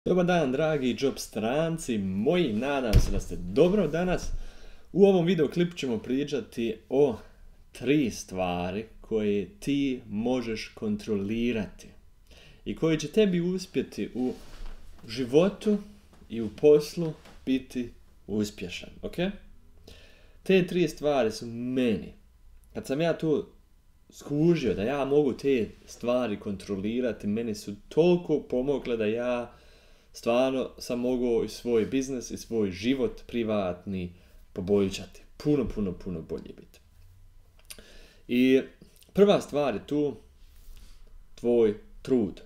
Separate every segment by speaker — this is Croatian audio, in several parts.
Speaker 1: Dobar dan, dragi job stranci moji, nadam se da ste dobro danas. U ovom video klipu ćemo pričati o 3 stvari koje ti možeš kontrolirati i koje će tebi uspjeti u životu i u poslu biti uspješan, ok? Te 3 stvari su meni, kad sam ja tu skužio da ja mogu te stvari kontrolirati, meni su toliko pomogle da ja stvarno sam mogao i svoj biznis i svoj život privatni poboljšati. Puno bolje biti. I prva stvar je tu tvoj trud.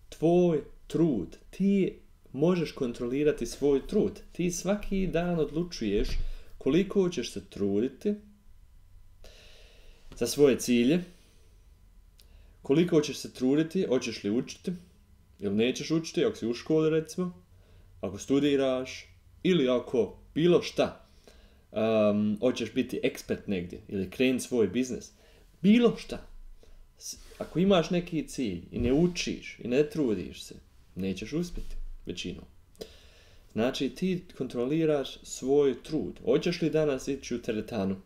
Speaker 1: Tvoj trud. Ti možeš kontrolirati svoj trud. Ti svaki dan odlučuješ koliko ćeš se truditi za svoje cilje, koliko ćeš se truditi, hoćeš li učiti, ili nećeš učiti, ako si u školi recimo, ako studiraš, ili ako bilo šta, hoćeš biti ekspert negdje, ili krenuti svoj biznis, bilo šta. Ako imaš neki cilj i ne učiš i ne trudiš se, nećeš uspjeti većinom. Znači ti kontroliraš svoj trud. Hoćeš li danas ići u teretanu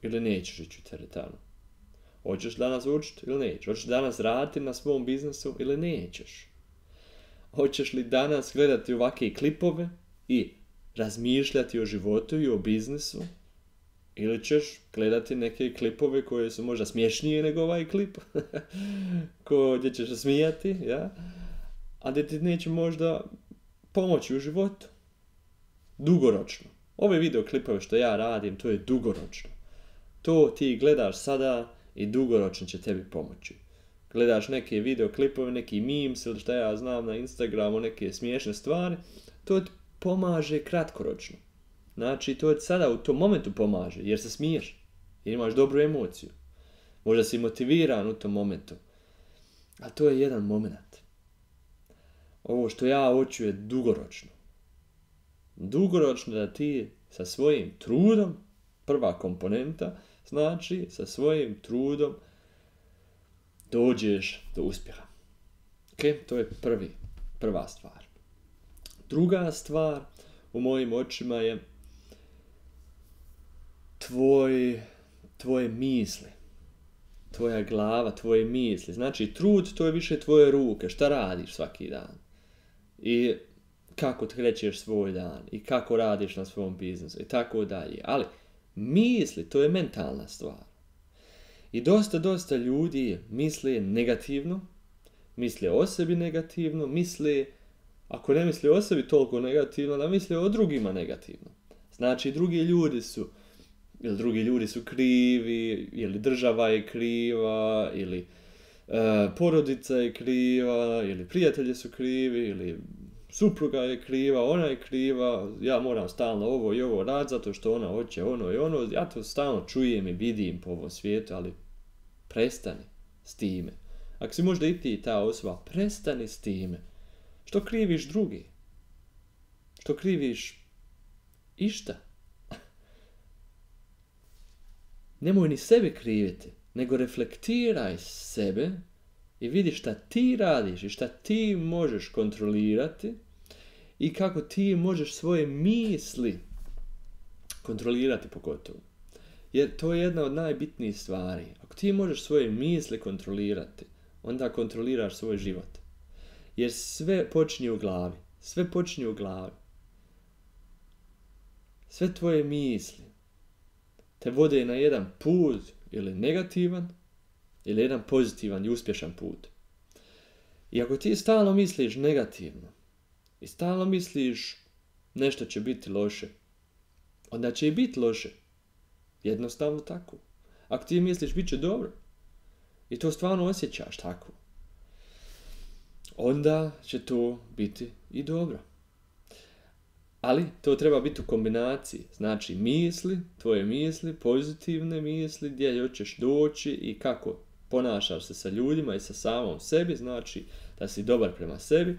Speaker 1: ili nećeš ići u teretanu? Hoćeš danas učiti ili nećeš? Hoćeš danas raditi na svom biznesu ili nećeš? Hoćeš li danas gledati ovakve klipove i razmišljati o životu i o biznisu? Ili ćeš gledati neke klipove koje su možda smješnije nego ovaj klip, gdje ćeš se smijati, ja? A gdje ti neće možda pomoći u životu. Dugoročno. Ove video klipove što ja radim, to je dugoročno. To ti gledaš sada i dugoročno će tebi pomoći. Gledaš neke video klipove, neki memes ili šta ja znam na Instagramu, neke smiješne stvari, to ti pomaže kratkoročno. Znači, to ti sada u tom momentu pomaže, jer se smiješ, jer imaš dobru emociju. Možda si motiviran u tom momentu. A to je jedan moment. Ovo što ja hoću je dugoročno. Dugoročno da ti sa svojim trudom, prva komponenta, znači sa svojim trudom dođeš do uspjeha. Ok, to je prva stvar. Druga stvar u mojim očima je tvoje misli. Tvoja glava, tvoje misli. Znači trud to je više tvoje ruke. Šta radiš svaki dan? I kako krećeš svoj dan. I kako radiš na svom biznisu. I tako dalje. Ali misli, to je mentalna stvar. I dosta ljudi misle negativno, misle o sebi negativno, misle, ako ne misle o sebi toliko negativno, da misle o drugima negativno. Znači drugi ljudi su krivi, ili država je kriva, ili porodica je kriva, ili prijatelji su krivi, ili supruga je kriva, ona je kriva, ja moram stalno ovo i ovo raditi zato što ona hoće ono i ono, ja to stalno čujem i vidim po ovom svijetu, ali prestani s time. Ako si možda i ti ta osoba, prestani s time. Što kriviš drugi? Što kriviš išta? Nemoj ni sebe kriviti, nego reflektiraj sebe i vidi šta ti radiš i šta ti možeš kontrolirati i kako ti možeš svoje misli kontrolirati pogotovo. Jer to je jedna od najbitnijih stvari. Ako ti možeš svoje misli kontrolirati, onda kontroliraš svoj život. Jer sve počinje u glavi. Sve počinje u glavi. Sve tvoje misli te vode na jedan put ili negativan, ili jedan pozitivan i uspješan put. I ako ti stalno misliš negativno i stalno misliš nešto će biti loše, onda će i biti loše. Jednostavno tako. Ako ti misliš bit će dobro i to stvarno osjećaš tako, onda će to biti i dobro. Ali to treba biti u kombinaciji. Znači misli, tvoje misli, pozitivne misli, gdje hoćeš doći i kako ponašaš se sa ljudima i sa samom sebi. Znači da si dobar prema sebi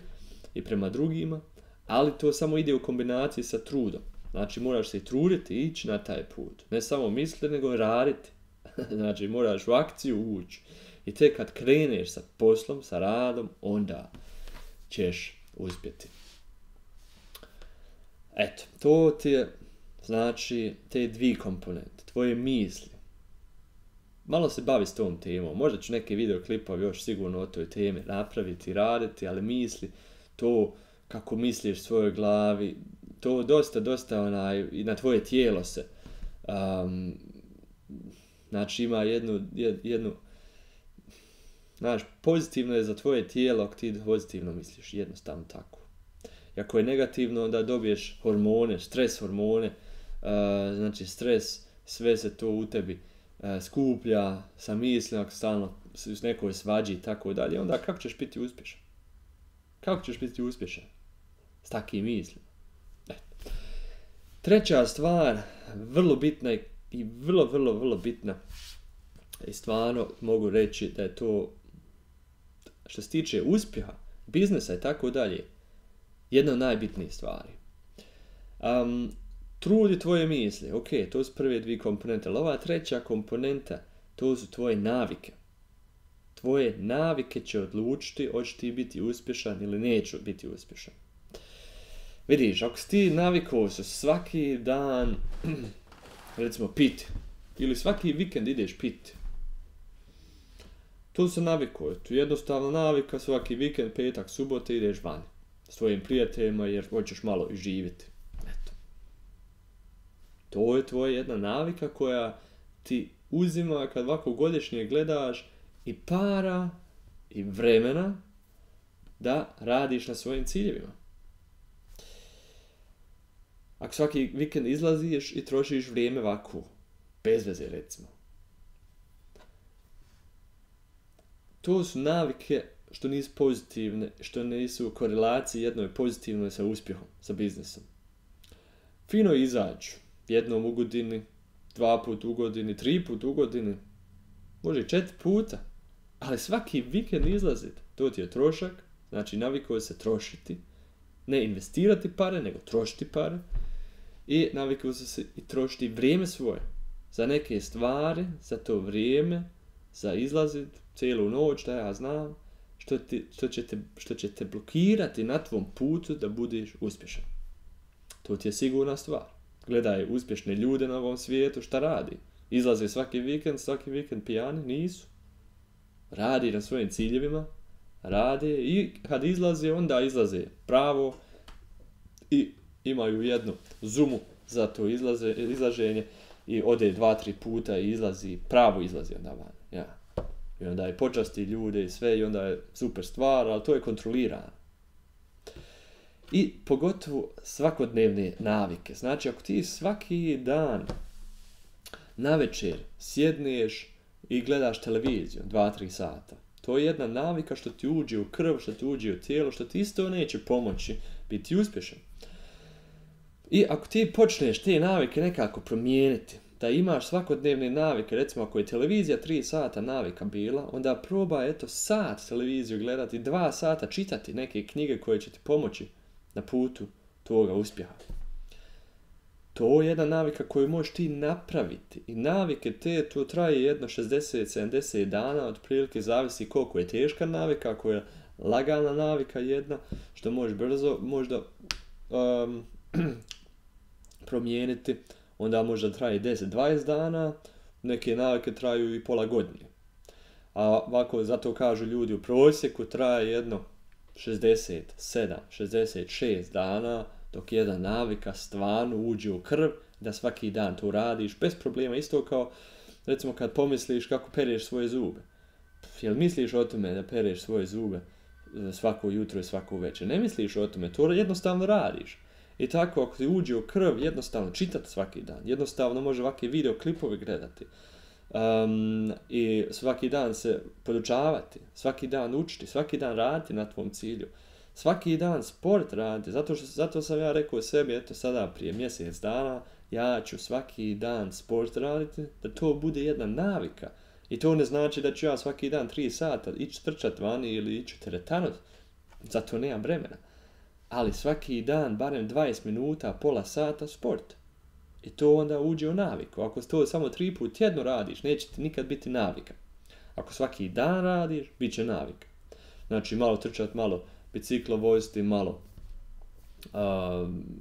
Speaker 1: i prema drugima. Ali to samo ide u kombinaciji sa trudom. Znači moraš se i truditi i ići na taj put. Ne samo misliti, nego raditi. Znači moraš u akciju ući. I tek kad kreneš sa poslom, sa radom, onda ćeš uspjeti. Eto, to ti je, znači, te dvije komponente, tvoje misli. Malo se bavi s tom temom, možda ću neke videoklipovi još sigurno o toj temi napraviti, raditi, ali misli, to kako misliš svojoj glavi, to dosta i na tvoje tijelo se, znači ima jednu, znaš, pozitivno je za tvoje tijelo ako ti pozitivno misliš, jednostavno tako. I ako je negativno, onda dobiješ hormone, stres hormone, znači stres, sve se to u tebi skuplja sa mislima, ako stalno s nekoj svađi i tako dalje, onda kako ćeš biti uspješan? Kako ćeš biti uspješan s takvim mislima? Treća stvar, vrlo bitna i vrlo bitna, i stvarno mogu reći da je to, što se tiče uspjeha, biznesa i tako dalje, jedna od najbitnijih stvari. Trudi tvoje misli, ok, to su prve dvije komponente, ali ova treća komponenta, to su tvoje navike. Tvoje navike će odlučiti hoćeš ti biti uspješan ili neću biti uspješan. Vidiš, ako si ti navikao se svaki dan, recimo piti, ili svaki vikend ideš piti, tu se navikao, tu jednostavno navika svaki vikend, petak, subote ideš vani s tvojim prijateljima jer hoćeš malo i živjeti. Eto. To je tvoja jedna navika koja ti uzima kad ovako godišnje gledaš i para i vremena da radiš na svojim ciljevima. Ako svaki vikend izlaziš i trošiš vrijeme ovako, bez veze recimo. To su navike što nisu pozitivne, što nisu u korelaciji jednoj pozitivnoj sa uspjehom, sa biznesom. Fino izađu, jednom u godini, 2 puta u godini, 3 puta u godini, može i 4 puta, ali svaki vikend izlaziti, to ti je trošak, znači navikao se trošiti, ne investirati pare, nego trošiti pare, i navikao se i trošiti vrijeme svoje za neke stvari, za to vrijeme, za izlazit cijelu noć, da ja znam, što će te blokirati na tvom putu da budeš uspješan. To ti je sigurna stvar. Gledaj uspješne ljude na ovom svijetu, šta radi? Izlaze svaki vikend pijani? Nisu. Radi na svojim ciljevima, rade i kad izlaze, onda izlaze pravo i imaju jednu zumu za to izlaženje i ode 2-3 puta i pravo izlazi onda van. Ja. I onda je počasti ljude i sve i onda je super stvar, ali to je kontrolirano. I pogotovo svakodnevne navike. Znači ako ti svaki dan navečer sjedneš i gledaš televiziju 2-3 sata, to je jedna navika što ti uđe u krv, što ti uđe u tijelo, što ti isto neće pomoći biti uspješan. I ako ti počneš te navike nekako promijeniti, da imaš svakodnevne navike, recimo ako je televizija 3 sata navika bila, onda probaj sat televiziju gledati, 2 sata čitati neke knjige koje će ti pomoći na putu toga uspjeha. To je jedna navika koju možeš ti napraviti. I navike to traje jedno 60-70 dana, otprilike zavisi koliko je teška navika, ako je lagana navika jedna, što možeš brzo možda promijeniti, onda možda traje 10-20 dana, neke navike traju i pola godine. A ovako, zato kažu ljudi, u prosjeku traje jedno 67-66 dana, dok jedna navika stvarno uđe u krv, da svaki dan to radiš bez problema, isto kao recimo kad pomisliš kako pereš svoje zube. Jel misliš o tome da pereš svoje zube svako jutro i svako večer? Ne misliš o tome, to jednostavno radiš. I tako ako ti uđe u krv, jednostavno čitati svaki dan, jednostavno može ovakve videoklipovi gledati. I svaki dan se podučavati, svaki dan učiti, svaki dan raditi na tvom cilju. Svaki dan sport raditi, zato sam ja rekao sebi, sada prije mjesec dana, ja ću svaki dan sport raditi, da to bude jedna navika. I to ne znači da ću ja svaki dan 3 sata ići trčati vani ili ići teretanut, zato nemam vremena. Ali svaki dan, barem 20 minuta, pola sata sport. I to onda uđe u naviku. Ako to samo 3 puta tjedno radiš, neće ti nikad biti navika. Ako svaki dan radiš, bit će navika. Znači malo trčati, malo biciklo voziti malo,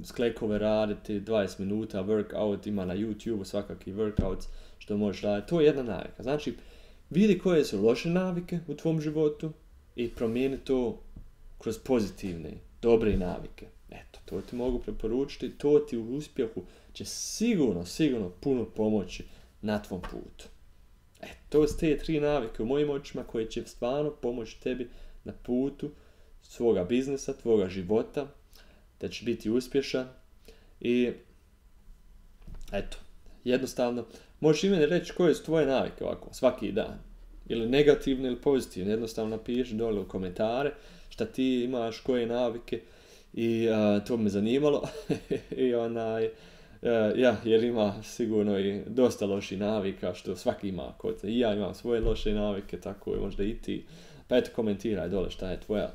Speaker 1: sklekove raditi, 20 minuta workout, ima na YouTube svakakvi workouts što možeš raditi. To je jedna navika. Znači, vidi koje su loše navike u tvom životu i promijeni to kroz pozitivne, dobre navike. Eto, to ti mogu preporučiti, to ti u uspjehu će sigurno puno pomoći na tvom putu. Eto, to su te 3 navike u mojim očima koje će stvarno pomoći tebi na putu svoga biznesa, tvoga života, da će biti uspješan i eto, jednostavno, možeš i meni reći koje su tvoje navike ovako, svaki dan. Ili negativne ili pozitivne, jednostavno napiši dole u komentare šta ti imaš, koje navike i to bi me zanimalo. I jer ima sigurno i dosta loših navika, što svaki ima kod se. I ja imam svoje loše navike, tako je možda i ti. Pa eto, komentiraj dole šta je tvoja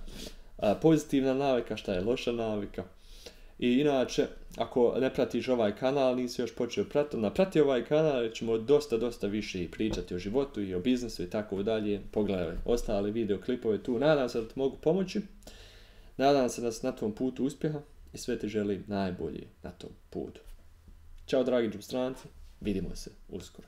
Speaker 1: pozitivna navika, šta je loša navika. I inače, ako ne pratiš ovaj kanal, nisi još počeo pratiti ovaj kanal, jer ćemo dosta više pričati o životu i o biznesu i tako dalje. Pogledaj ostale videoklipove tu, nadam se da ti mogu pomoći. Nadam se da si na tvom putu uspjeha i sve ti želim najbolje na tom putu. Ćao dragi džupstranci, vidimo se uskoro.